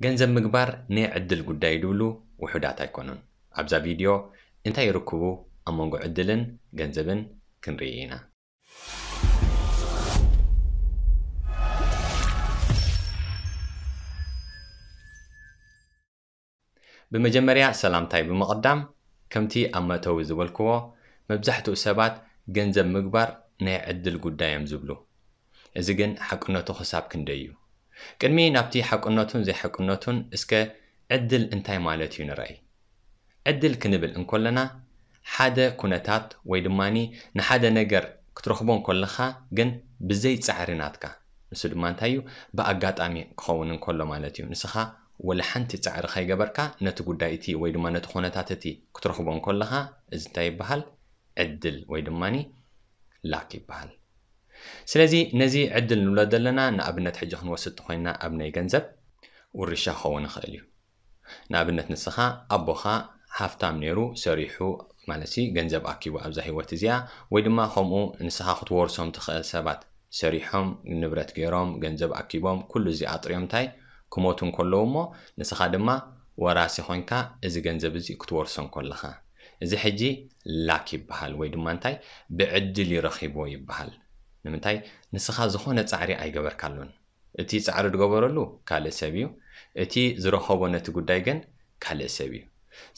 ገንዘብ ምግባር ናይ ዕድል ጉዳይ ድብሉ ውሑዳት ኣይኮኑን። ኣብዛ ቪድዮ እንታይ ይርክቡ ኣብ መንጎ ዕድልን ገንዘብን ክንርኢ ኢና። ብመጀመርያ ሰላምታይ ብምቕዳም፣ ከምቲ ኣብ መእተዊ ዝበልክዎ፣ መብዛሕትኡ ሰባት ገንዘብ ምግባር ናይ ዕድል ጉዳይ እዮም ዝብሉ። እዚ ግን ሓቅነቱ ክሳብ ክንደይ እዩ? ቅድሚ ናብቲ ሓቅነቱን ዘይሓቅነቱን፣ እስከ ዕድል እንታይ ማለት እዩ ንርኣይ። ዕድል ክንብል እንኮለና፣ ሓደ ኩነታት ወይ ድማኒ ንሓደ ነገር ክትረኽቦ እንኮለኻ፣ ግን ብዘይ ጻዕሪ ናትካ፣ ንሱ ድማ እንታይ እዩ? ብኣጋጣሚ ክኸውን እንከሎ ማለት እዩ። ንስኻ ወላ ሓንቲ ጻዕሪ ከይገበርካ ነቲ ጉዳይ እቲ ወይ ድማ ነቲ ኩነታት እቲ ክትረኽቦ እንኮለኻ፣ እዚ እንታይ ይበሃል? ዕድል ወይ ድማኒ ላክ ይበሃል። ስለዚ ነዚ ዕድል ንብሎ ዘለና፣ ንኣብነት ሕጂ ክንወስድ ተኾይና ኣብ ናይ ገንዘብ ውርሻ ክኸውን ይኽእል እዩ። ንኣብነት ንስኻ ኣቦኻ ሃፍታም ነይሩ፣ ሰሪሑ ማለት ሲ ገንዘብ ኣኪቡ ኣብዛ ህይወት እዚኣ፣ ወይ ድማ ከምኡ ንስኻ ክትወርሶም ትኽእል ሰባት ሰሪሖም ንብረት ገይሮም ገንዘብ ኣኪቦም ኩሉ እዚ ኣጥርዮም እንታይ ክሞቱ እንከለዉ እሞ ንስኻ ድማ ወራሲ ኮንካ እዚ ገንዘብ እዚ ክትወርሶ እንከለኻ፣ እዚ ሕጂ ላክ ይበሃል ወይ ድማ እንታይ ብዕድል ይረኺቦ ይበሃል። ንምንታይ? ንስኻ ዝኾነ ጻዕሪ ኣይገበርካሉን። እቲ ጻዕሪ ዝገበረሉ ካልእ ሰብ እዩ። እቲ ዝረኸቦ ነቲ ጉዳይ ግን ካልእ ሰብ እዩ።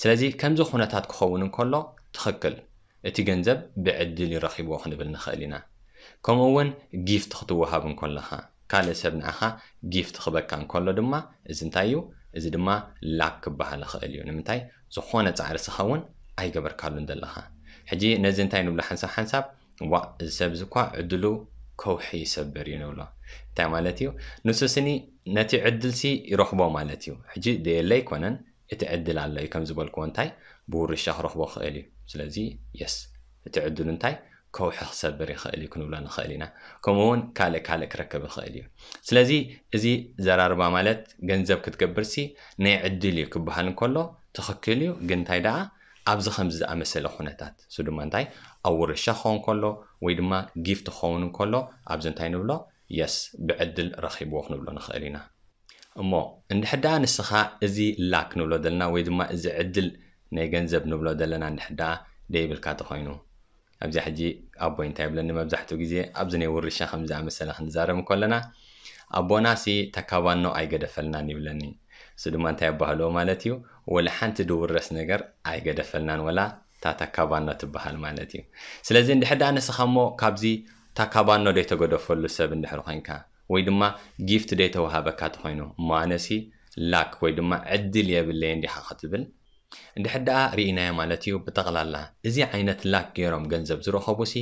ስለዚ ከምዚ ኩነታት ክኸውን እንከሎ ትኽክል፣ እቲ ገንዘብ ብዕድል ይረኺብዎ ክንብል ንኽእል ኢና። ከምኡ እውን ጊፍት ክትወሃብ እንከለኻ፣ ካልእ ሰብ ንዓኻ ጊፍት ክበካ እንከሎ ድማ እዚ እንታይ እዩ? እዚ ድማ ላክ ክበሃል ይኽእል እዩ። ንምንታይ? ዝኾነ ጻዕሪ ስኻ እውን ኣይገበርካሉን ዘለኻ። ሕጂ ነዚ እንታይ ንብሎ ሓንሳብ ሓንሳብ? ዋእ፣ እዚ ሰብ እዚ እኳ ዕድሉ ከውሒ ይሰብር እዩ ንብሎ። እንታይ ማለት እዩ? ንሱ ስኒ ነቲ ዕድል ሲ ይረኽቦ ማለት እዩ። ሕጂ ደየለ ኣይኮነን፣ እቲ ዕድል ኣሎ እዩ። ከም ዝበልክዎ እንታይ ብውርሻ ክረኽቦ ክእል እዩ። ስለዚ የስ፣ እቲ ዕድሉ እንታይ ከውሒ ክሰብር ይኽእል እዩ ክንብሎ ንኽእል ኢና። ከምኡ እውን ካልእ ካልእ ክረክብ ይኽእል እዩ። ስለዚ እዚ ዘራርባ ማለት ገንዘብ ክትገብር ሲ ናይ ዕድል እዩ ክበሃል እንከሎ ትኽክል እዩ። ግን እንታይ ደኣ ኣብዚ ከምዚ ዝኣመሰለ ኩነታት፣ እሱ ድማ እንታይ ኣብ ውርሻ ክኸውን ከሎ ወይ ድማ ጊፍት ክኸውን እንከሎ ኣብዚ እንታይ ንብሎ? የስ፣ ብዕድል ረኺብዎ ክንብሎ ንኽእል ኢና። እሞ እንድሕር ደኣ ንስኻ እዚ ላክ ንብሎ ዘለና ወይ ድማ እዚ ዕድል ናይ ገንዘብ ንብሎ ዘለና እንድሕር ደኣ ደይብልካ ተኾይኑ፣ ኣብዚኣ ሕጂ ኣቦይ እንታይ ይብለኒ መብዛሕትኡ ግዜ፣ ኣብዚ ናይ ውርሻ ከም ዝኣመሰለ ክንዛረብ እንከለና፣ ኣቦና ሲ ተካባኖ ኣይገደፈልናን ይብለኒ። እሱ ድማ እንታይ ኣባህልኦ ማለት እዩ? ወላ ሓንቲ ድውረስ ነገር ኣይገደፈልናን፣ ወላ እታ ተካባኖ ትበሃል ማለት እዩ። ስለዚ እንድሕር ደኣ ንስኻ እሞ ካብዚ ተካባኖ ደይተገደፈሉ ሰብ እንድሕር ኮይንካ፣ ወይ ድማ ጊፍት ደይተዋሃበካ ተኾይኑ፣ እሞ ኣነሲ ላክ ወይ ድማ ዕድል የብለይን ዲኻ ክትብል፣ እንድሕር ደኣ ርኢናዮ ማለት እዩ። ብጠቕላላ እዚ ዓይነት ላክ ገይሮም ገንዘብ ዝረኸቡ ሲ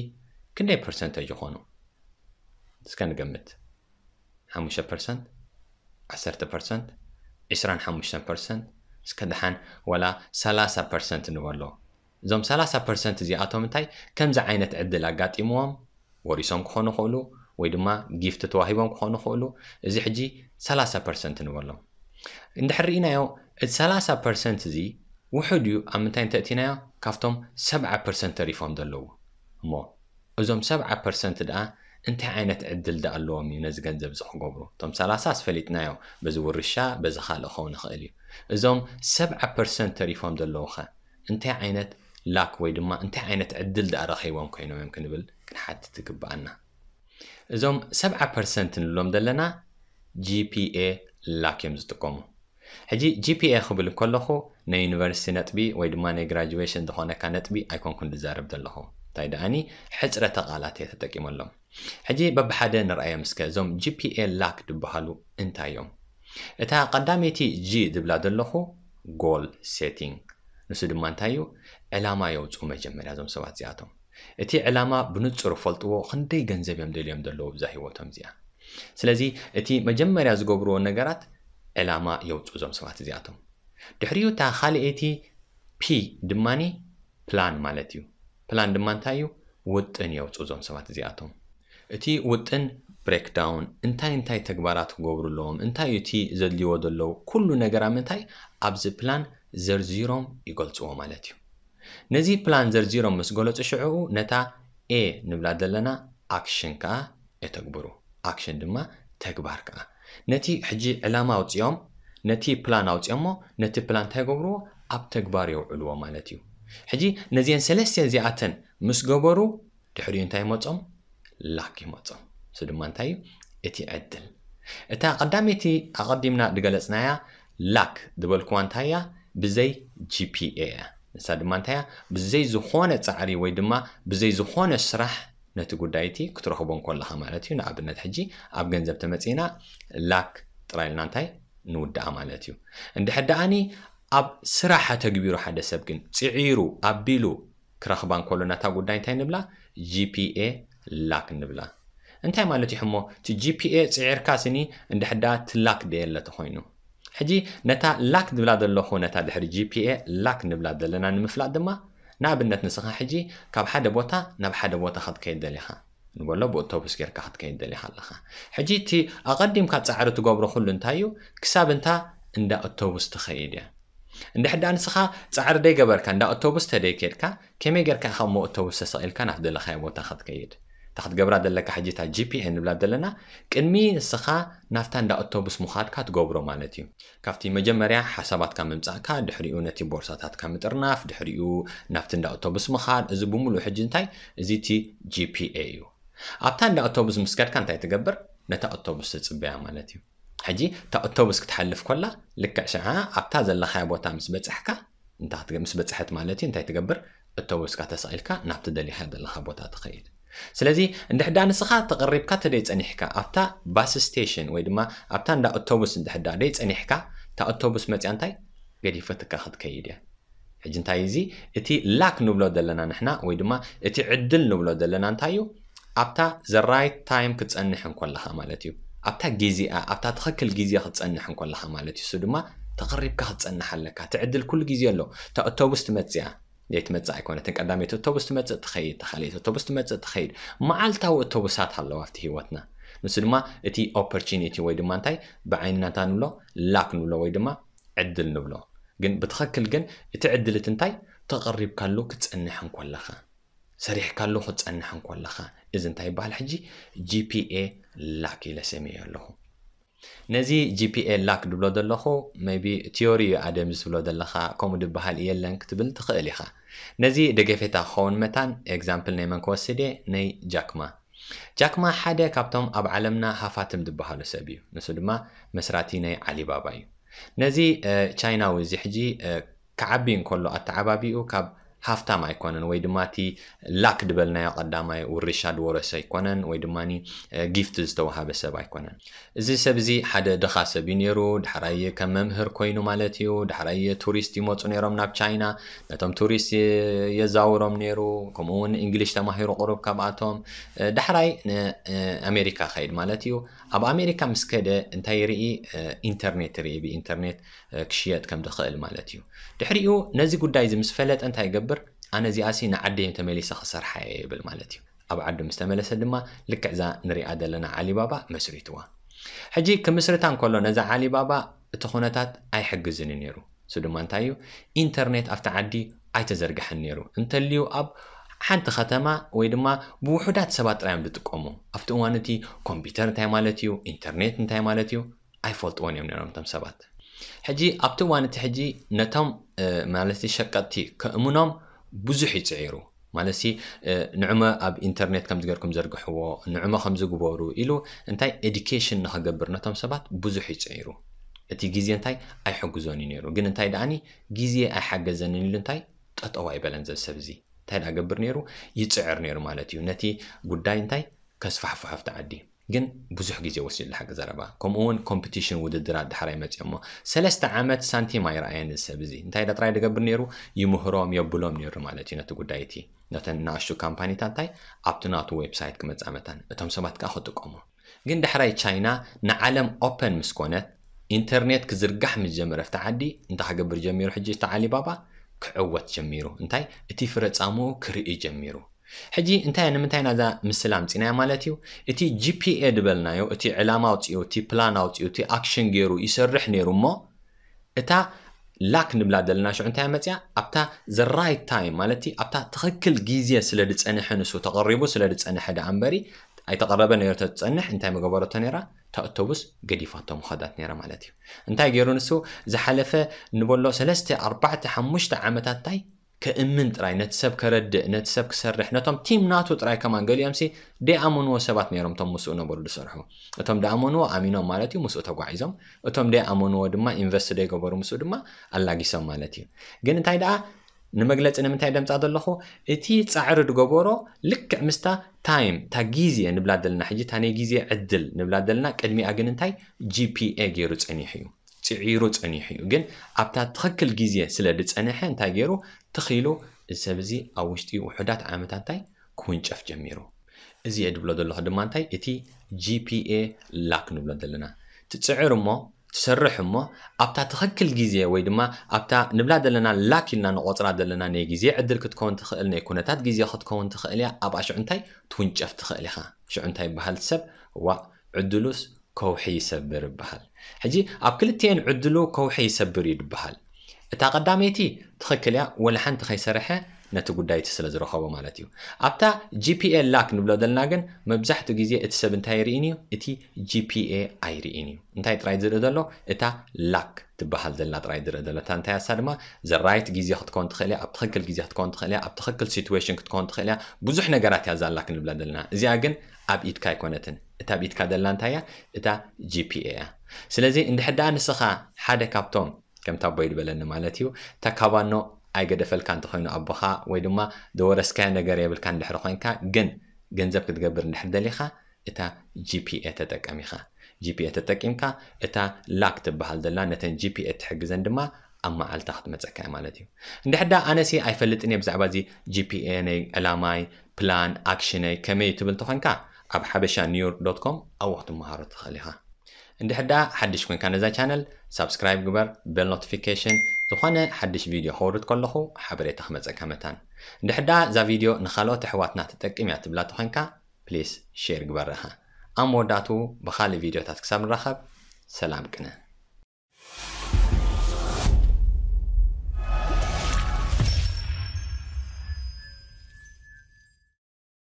ክንደይ ፐርሰንተጅ ይኾኑ? እስከ ንገምት። ሓሙሽተ ፐርሰንት፣ ዓሰርተ ፐርሰንት፣ ዕስራን ሓሙሽተን ፐርሰንት፣ እስከ ደሓን ዋላ ሰላሳ ፐርሰንት ንበሎ። እዞም ሰላሳ ፐርሰንት እዚኣቶም እንታይ ከምዚ ዓይነት ዕድል ኣጋጢምዎም ወሪሶም ክኾኑ ይኽእሉ፣ ወይ ድማ ጊፍት ተዋሂቦም ክኾኑ ይኽእሉ። እዚ ሕጂ ሰላሳ ፐርሰንት ንበሎም። እንድሕር ርኢናዮ፣ እቲ ሰላሳ ፐርሰንት እዚ ውሑድ እዩ። ኣብ ምንታይ እንተእቲናዮ፣ ካብቶም ሰብዓ ፐርሰንት ተሪፎም ዘለዉ። እሞ እዞም ሰብዓ ፐርሰንት ደኣ እንታይ ዓይነት ዕድል ደኣ ኣለዎም እዩ ነዚ ገንዘብ እዚ ክገብሩ? እቶም ሰላሳ ኣስፈሊጥናዮ፣ በዚ ውርሻ፣ በዚ ካልእ ክኸውን ይኽእል እዩ። እዞም ሰብዓ ፐርሰንት ተሪፎም ዘለዉ ኸ እንታይ ዓይነት ላክ ወይ ድማ እንታይ ዓይነት ዕድል ደኣ ረኺቦም ኮይኖም እዮም ክንብል ክንሓትት ይግብኣና። እዞም ሰብዓ ፐርሰንት ንብሎም ዘለና ጂ ፒ ኤ ላክ እዮም ዝጥቀሙ። ሕጂ ጂ ፒ ኤ ክብል ከለኹ ናይ ዩኒቨርሲቲ ነጥቢ ወይ ድማ ናይ ግራጁዌሽን ዝኾነካ ነጥቢ ኣይኮንኩን ዝዛረብ ዘለኹ። እንታይ ደኣኒ ሕጽረተ ቃላት እየ ተጠቂመሎም። ሕጂ በብሓደ ንርኣዮም እስከ፣ እዞም ጂ ፒ ኤ ላክ ዝበሃሉ እንታይ እዮም? እታ ቀዳመይቲ ጂ ዝብላ ዘለኹ ጎል ሴቲንግ፣ ንሱ ድማ እንታይ እዩ? ዕላማ የውፅኡ መጀመርያ እዞም ሰባት እዚኣቶም። እቲ ዕላማ ብንጹር ፈልጥዎ፣ ክንደይ ገንዘብ እዮም ደልዮም ዘለዉ ብዛ ህይወቶም እዚኣ። ስለዚ እቲ መጀመርያ ዝገብርዎ ነገራት ዕላማ የውፅኡ እዞም ሰባት እዚኣቶም። ድሕሪኡ እታ ካልኣይቲ ፒ ድማኒ ፕላን ማለት እዩ። ፕላን ድማ እንታይ እዩ? ውጥን የውፅኡ እዞም ሰባት እዚኣቶም። እቲ ውጥን ብሬክዳውን፣ እንታይ እንታይ ተግባራት ክገብሩ ኣለዎም፣ እንታይ እዩ እቲ ዘድልይዎ ዘለዉ፣ ኩሉ ነገር ኣብ ምንታይ ኣብዚ ፕላን ዘርዚሮም ይገልፅዎ ማለት እዩ። ነዚ ፕላን ዘርዚሮም ምስ ገለፁ ሽዕኡ ነታ ኤ ንብላ ዘለና ኣክሽን ከዓ የተግብሩ። ኣክሽን ድማ ተግባር ከዓ ነቲ ሕጂ ዕላማ ኣውፅኦም ነቲ ፕላን ኣውፅኦሞ፣ ነቲ ፕላን እንታይ ገብርዎ? ኣብ ተግባር የውዕልዎ ማለት እዩ። ሕጂ ነዚአን ሰለስተ እዚኣተን ምስ ገበሩ ድሕሪኡ እንታይ ይመጾም? ላክ ይመጾም። እሱ ድማ እንታይ እዩ? እቲ ዕድል። እታ ቀዳመይቲ ኣቐዲምና ዝገለጽናያ ላክ ዝበልክዋ እንታይ እያ? ብዘይ ጂ ፒ ኤ እያ። ንሳ ድማ እንታይ እያ? ብዘይ ዝኾነ ጻዕሪ ወይ ድማ ብዘይ ዝኾነ ስራሕ ነቲ ጉዳይ እቲ ክትረኽቦ እንከለኻ ማለት እዩ። ንኣብነት ሕጂ ኣብ ገንዘብ ተመጺእና ላክ ጥራይ ኢልና እንታይ ንውድኣ ማለት እዩ። እንድሕር ደኣኒ ኣብ ስራሕ ተግቢሩ ሓደ ሰብ ግን ጽዒሩ ኣቢሉ ክረኽባ እንከሎ ናታ ጉዳይ እንታይ ንብላ? ጂ ፒ ኤ ላክ ንብላ። እንታይ ማለት እዩ ሕሞ? እቲ ጂ ፒ ኤ ጽዒርካ ስኒ እንድሕር ደኣ ትላክ ደየለ ተኾይኑ። ሕጂ ነታ ላክ ንብላ ዘለኹ ነታ ድሕሪ ጂ ፒ ኤ ላክ ንብላ ዘለና ንምፍላጥ ድማ ንኣብነት ንስኻ ሕጂ ካብ ሓደ ቦታ ናብ ሓደ ቦታ ክትከይድ ደሊኻ ንበሎ ብእቶቡስ ጌርካ ክትከይድ ደሊኻ ኣለኻ። ሕጂ እቲ ኣቐዲምካ ጻዕሪ ትገብሮ ኩሉ እንታይ እዩ? ክሳብ እንታ እንዳ እቶቡስ ትኸይድ እያ። እንድሕር ደኣ ንስኻ ጻዕሪ ደይገበርካ እንዳ እቶቡስ ተደይከድካ ከመይ ጌርካ ኢኻ እሞ እቶቡስ ተሰቒልካ ናብ ደለኻዮ ቦታ ክትከይድ? እታ ክትገብራ ዘለካ ሕጂ እታ ጂ ፒ ኤ ንብላ ዘለና ቅድሚ ንስኻ ናብታ እንዳ እቶቡስ ምኻድካ ትገብሮ ማለት እዩ። ካብቲ መጀመርያ ሓሳባትካ ምምጻእካ፣ ድሕሪኡ ነቲ ቦርሳታትካ ምጥርናፍ፣ ድሕሪኡ ናብቲ እንዳ ኣውቶቡስ ምኻድ፣ እዚ ብምሉእ ሕጂ እንታይ? እዚ እቲ ጂ ፒ ኤ እዩ። ኣብታ እንዳ ኣውቶቡስ ምስ ከድካ እንታይ ትገብር? ነታ ኣውቶቡስ ትጽበያ ማለት እዩ። ሕጂ እታ ኣውቶቡስ ክትሓልፍ ኮላ ልክዕ ሽዓ ኣብታ ዘለኻያ ቦታ ምስ በጻሕካ፣ እንታይ ክትገ-፣ ምስ በጻሐት ማለት እዩ፣ እንታይ ትገብር? ኣውቶቡስካ ተሰቒልካ ናብቲ ደሊኻ ዘለኻ ቦታ ትኸይድ። ስለዚ እንድሕዳ ንስኻ ተቐሪብካ ተደይ ጸኒሕካ ኣብታ ባስ ስቴሽን ወይ ድማ ኣብታ እንዳ ኣውቶቡስ እንድሕዳ ደይ ጸኒሕካ፣ እታ ኣውቶቡስ መጽያ እንታይ ገዲፈትካ ክትከይድ እያ። ሕጂ እንታይ እዚ እቲ ላክ ንብሎ ዘለና ንሕና ወይ ድማ እቲ ዕድል ንብሎ ዘለና እንታይ እዩ? ኣብታ the right time ክትጸንሕ እንኮለኻ ማለት እዩ። ኣብታ ግዜኣ፣ ኣብታ ትኽክል ግዜ ክትጸንሕ እንኮለኻ ማለት እዩ። እሱ ድማ ተቐሪብካ ክትጸንሕ ኣለካ። እቲ ዕድል ኩሉ ግዜ ኣሎ። እታ ኣውቶቡስ ትመጽእ እያ። ዘይትመጽእ ኣይኮነትን። ቀዳመይቲ ኣውቶቡስ ትመጽእ ትኸይድ፣ እታ ካልኣይቲ ኣውቶቡስ ትመጽእ ትኸይድ። መዓልታዊ ኣውቶቡሳት ኣለዋ ኣብቲ ህይወትና። ንሱ ድማ እቲ ኦፖርቹኒቲ ወይ ድማ እንታይ ብዓይንና እንታይ ንብሎ? ላክ ንብሎ ወይ ድማ ዕድል ንብሎ። ግን ብትኽክል ግን እቲ ዕድል እቲ እንታይ? ተቐሪብካሉ ክትጸንሕ እንኮለኻ፣ ሰሪሕካሉ ክትጸንሕ እንኮለኻ፣ እዚ እንታይ ይበሃል ሕጂ? ጂ ፒ ኤ ላክ ኢለ ሰሚየ ኣለኹ። ነዚ ጂ ፒ ኤ ላክ ድብሎ ዘለኹ፣ maybe ቲዮሪ እዩ ኣደም ዝብሎ ዘለኻ፣ ከምኡ ድበሃል የለን ክትብል ትኽእል ኢኻ። ነዚ ደገፌታ ክኸውን መታን ኤግዛምፕል ናይ መን ክወስድ እየ? ናይ ጃክማ። ጃክማ ሓደ ካብቶም ኣብ ዓለምና ሃፋትም ዝበሃሉ ሰብ እዩ። ንሱ ድማ መስራቲ ናይ ዓሊባባ እዩ። ነዚ፣ እ፣ ቻይናዊ እዚ ሕጂ፣ እ፣ ክዓቢ እንከሎ ኣተዓባቢኡ ካብ ሃፍታም ኣይኮነን፣ ወይ ድማ እቲ ላክ ዝበልናዮ ቀዳማይ ውርሻ ዝወረሰ ኣይኮነን፣ ወይ ድማ፣ እ፣ ጊፍት ዝተዋሃበ ሰብ ኣይኮነን። እዚ ሰብ እዚ ሓደ ድኻ ሰብ እዩ ነይሩ። ዳሕራይ ከም መምህር ኮይኑ ማለት እዩ። ዳሕራይ ቱሪስት ይመፁ ነይሮም ናብ ቻይና። ነቶም ቱሪስት የ-፣ የዛውሮም ነይሩ። ከምኡ እውን እንግሊሽ ተማሂሩ ቁሩብ ካብኣቶም። እ፣ ዳሕራይ ን-፣ እ፣ ኣሜሪካ ከይድ ማለት እዩ። ኣብ ኣሜሪካ ምስ ከደ እንታይ ይርኢ? እ፣ ኢንተርኔት ይርኢ። ብኢንተርኔት፣ እ፣ ክሽየጥ ከም ዝኽእል ማለት እዩ። ድሕሪኡ ነዚ ጉዳይ እዚ ምስ ፈለጠ እንታይ ይገብር? ኣነ እዚኣሲ ንዓደይ ተመሊሰ ክሰርሓ እየ ይብል ማለት እዩ። ኣብ ዓዱ ምስ ተመለሰ ድማ ልክዕ እዛ ንሪኣ ዘለና ዓሊባባ መስሪትዋ። ሕጂ ክምስርታ እንከሎ ነዛ ዓሊባባ እቲ ኩነታት ኣይሕግዝን እዩ ነይሩ። እሱ ድማ እንታይ እዩ? ኢንተርኔት ኣብቲ ዓዲ ኣይተዘርግሐን ነይሩ። እንተልዩ ኣብ ሓንቲ ከተማ ወይ ድማ ብውሑዳት ሰባት ጥራይ እዮም ዝጥቀሙ። ኣብቲ እዋን እቲ ኮምፒውተር እንታይ ማለት እዩ፣ ኢንተርኔት እንታይ ማለት እዩ ኣይፈልጥዎን እዮም ነይሮም እቶም ሰባት። ሕጂ ኣብቲ እዋን እቲ ሕጂ ነቶም፣ እ፣ ማለት ሸቀጥቲ ከእምኖም ብዙሕ ይጽዒሩ። ማለትሲ፣ እ፣ ንዕመ ኣብ ኢንተርኔት ከምዚ ገርኩም ዘርግሕዎ፣ ንዕመ ከምዚ ግበሩ ኢሉ እንታይ ኤዱኬሽን ንኽገብር ነቶም ሰባት ብዙሕ ይጽዒሩ። እቲ ግዜ እንታይ ኣይሕግዞን እዩ ነይሩ። ግን እንታይ ደኣኒ ግዜ ኣይሓገዘንን ኢሉ እንታይ ጠጠው ኣይበለን ዘብ ሰብ እዚ። እንታይ ደኣ ገብር ነይሩ? ይጽዕር ነይሩ ማለት እዩ። ነቲ ጉዳይ እንታይ ከስፋሕፍሖ ኣብቲ ዓዲ። ግን ብዙሕ ግዜ ወሲድሉ ሓቂ ዘረባ። ከምኡ እውን ኮምፒቲሽን ውድድራት ዳሕራይ መጽኦሞ። ሰለስተ ዓመት ሳንቲም ኣይረኣየን እዚ ሰብ እዚ። እንታይ ዳ ጥራይ ደገብር ነይሩ? ይምህሮም፣ የብሎም ነይሩ ማለት እዩ ነቲ ጉዳይ እቲ። ነተን ንኣሽቱ ካምፓኒታት እንታይ ኣብቲ ናቱ ዌብሳይት ክመጻ መታን። እቶም ሰባት ከኣ ክጥቀሙ። ግን ዳሕራይ ቻይና ንዓለም ኦፐን ምስ ኮነት፣ ኢንተርኔት ክዝርጋሕ ምስ ጀመረ ኣብቲ ዓዲ፣ እንታይ ክገብር ጀሚሩ ሕጂ እቲ ዓሊባባ? ክዕወት ጀሚሩ። እንታይ? እቲ ፍረ ጻምኡ ክርኢ ጀሚሩ። ሕጂ እንታይ፣ ንምንታይ ናዛ ምስላ ኣምጺናያ ማለት እዩ? እቲ ጂ ፒ ኤ ዝበልናዮ፣ እቲ ዕላማ ኣውጺኡ፣ እቲ ፕላን ኣውጺኡ፣ እቲ ኣክሽን ገይሩ ይሰርሕ ነይሩ እሞ፣ እታ ላክ ንብላ ዘለና ሽዑ እንታይ መጽያ? ኣብታ the right time ማለት ኣብታ ትኽክል ግዜ ስለ ዝጸንሐ ንሱ ተቐሪቡ ስለ ዝጸንሐ ደኣ እምበሪ ኣይተቐረበ ነይሩ ተዝፀንሕ እንታይ መገበረቶ ነይራ? እታ ኣውቶቡስ ገዲፋቶ ምኸዳት ነይራ ማለት እዩ። እንታይ ገይሩ ንሱ? ዝሓለፈ ንበሎ ሰለስተ ኣርባዕተ ሓሙሽተ ዓመታት እንታይ ከእምን ጥራይ፣ ነቲ ሰብ ከረድእ፣ ነቲ ሰብ ክሰርሕ፣ ነቶም ቲም ናቱ ጥራይ ከማን፣ ገሊኦም ሲ ደይኣመንዎ ሰባት ነይሮም እቶም ምስኡ ነበሩ ዝሰርሑ። እቶም ደኣመንዎ ኣሚኖም ማለት እዩ ምስኡ ተጓዒዞም፣ እቶም ደይኣመንዎ ድማ ኢንቨስት ደይገበሩ ምስኡ ድማ ኣላጊሶም ማለት እዩ። ግን እንታይ ደኣ ንመግለፂ ንምንታይ ደምፃ ዘለኹ? እቲ ፃዕሪ ዝገበሮ ልክዕ ምስታ ታይም፣ እታ ግዜ ንብላ ዘለና ሕጂ፣ እታ ናይ ግዜ ዕድል ንብላ ዘለና ቅድሚኣ ግን እንታይ? ጂፒኤ ገይሩ ፀኒሑ እዩ፣ ፅዒሩ ፀኒሑ እዩ። ግን ኣብታ ትኽክል ግዜ ስለ ዝፀንሐ እንታይ ገይሩ? ትኺሉ እዚ ሰብ እዚ ኣብ ውሽጢ ውሑዳት ዓመታት እንታይ ክውንጨፍ ጀሚሩ። እዚ እየ ድብሎ ዘለኹ ድማ እንታይ? እቲ ጂፒኤ ላክ ንብሎ ዘለና። ትፅዕር እሞ ትሰርሕ እሞ ኣብታ ትኽክል ግዜ ወይ ድማ ኣብታ ንብላ ዘለና ላክ ኢልና ንቆፅራ ዘለና ናይ ግዜ ዕድል ክትከውን ትኽእል፣ ናይ ኩነታት ግዜ ክትከውን ትኽእል እያ። ኣብኣ ሽዑ እንታይ ትውንጨፍ ትኽእል ኢኻ። ሽዑ እንታይ ይበሃል? ሰብ ዋእ ዕድሉስ ከውሒ ይሰብር ይበሃል። ሕጂ ኣብ ክልቲኤን ዕድሉ ከውሒ ይሰብር እዩ ድበሃል። እታ ቀዳመይቲ ትኽክል እያ፣ ወላ ሓንቲ ከይሰርሐ ነቲ ጉዳይ እቲ ስለ ዝረኸቦ ማለት እዩ። ኣብታ ጂፒኤ ላክ ንብሎ ዘለና ግን መብዛሕትኡ ግዜ እቲ ሰብ እንታይ ይርኢን እዩ? እቲ ጂፒኤ ኣይርኢን እዩ። እንታይ ጥራይ ዝርኢ ዘሎ? እታ ላክ ትበሃል ዘላ ጥራይ ዝርኢ ዘሎ። እታ እንታይ እያ? እሳ ድማ ዘ ራይት ግዜ ክትከውን ትኽእል እያ፣ ኣብ ትኽክል ግዜ ክትከውን ትኽእል እያ፣ ኣብ ትኽክል ሲትዌሽን ክትከውን ትኽእል እያ። ብዙሕ ነገራት እያ እዛ ላክ ንብላ ዘለና። እዚኣ ግን ኣብ ኢድካ ኣይኮነትን። እታ ኣብ ኢድካ ዘላ እንታይ እያ? እታ ጂፒኤ እያ። ስለዚ እንድሕር ደኣ ንስኻ ሓደ ካብቶም ከምቲ ኣቦይ ዝበለኒ ማለት እዩ፣ ተካባኖ ኣይገደፈልካ እንተኾይኑ ኣቦኻ ወይ ድማ ዝወረስካዮ ነገር የብልካ እንድሕር ኮይንካ፣ ግን ገንዘብ ክትገብር እንድሕር ደሊኻ እታ ጂፒኤ ተጠቀም ኢኻ። ጂፒኤ ተጠቂምካ እታ ላክ ትበሃል ዘላ ነተን ጂፒኤ ትሕግዘን ድማ ኣብ መዓልታ ክትመፀካ እያ ማለት እዩ። እንድሕር ደኣ ኣነሲ ኣይፈልጥን እየ ብዛዕባ እዚ ጂፒኤ ናይ ዕላማይ፣ ፕላን ኣክሽነይ ከመይ እዩ ትብል እንተኾይንካ ኣብ ሓበሻ ኒውዮርክ ዶት ኮም ኣብኡ ክትመሃሮ ትኽእል ኢኻ። እንድሕር ደኣ ሓድሽ ኮይንካ ነዛ ቻነል ሳብስክራይብ ግበር፣ ቤል ኖቲፊኬሽን፣ ዝኾነ ሓድሽ ቪድዮ ከውርድ ከለኹ ሓበሬታ ክመፀካ መታን። እንድሕር ደኣ እዛ ቪድዮ ንኻልኦት ኣሕዋትና ትጠቅም እያ ትብላ ተኾይንካ ፕሊስ ሼር ግበረኻ። ኣብ መወዳእቱ ብኻልእ ቪድዮታት ክሳብ ንራኸብ ሰላም ቅነ።